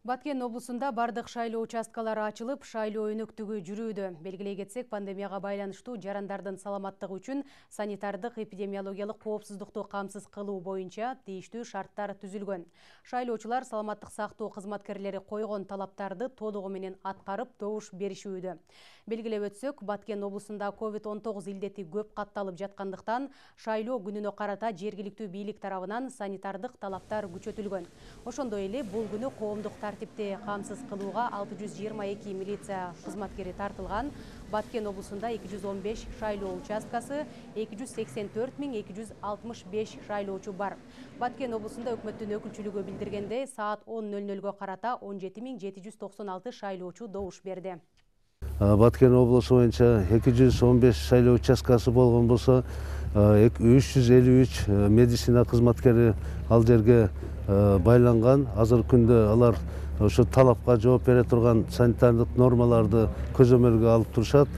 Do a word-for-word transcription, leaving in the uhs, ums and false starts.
Баткен облусунда бардык шайлоо участкалары ачылып, шайлоо өнөктүгү жүрүүдө. Белгилей кетсек, пандемияга байланыштуу жарандардын саламаттыгы үчүн санитардык эпидемиологиялык коопсуздукту камсыз кылуу боюнча тийиштүү шарттар түзүлгөн. Шайлоочулар саламаттык сактоо кызматкерлери койгон талаптарды толугу менен аткарып, добуш беришүүдө. Белгилеп өтсөк, Баткен облусунда ковид он тогуз илдети көп катталып жаткандыктан, шайлоо күнүнө карата жергиликтүү бийлик тарабынан санитардык талаптар күчөтүлгөн. Ошондой эле бул күнү коомдук тартипти камсыз кылууга алты жүз жыйырма эки милиция кызматкери тартылган. Баткен облусунда эки жүз он беш шайлоо участкасы, эки жүз сексен төрт миң эки жүз алтымыш беш шайлоочу бар. Баткен облусунда өкмөттүн өкүлчүлүгү билдиргендей, саат он ноль нольго карата он жети миң жети жүз токсон алты шайлоочу добуш берди. Баткен облусу боюнча эки жүз он беш шайлоо участкасы болгон болсо, үч жүз элүү үч медицина кызматкери ал жерге байланган. Азыркы күндө алар ошо талапка жооп бере турган санитардык нормаларды көзөмөлгө алып турушат.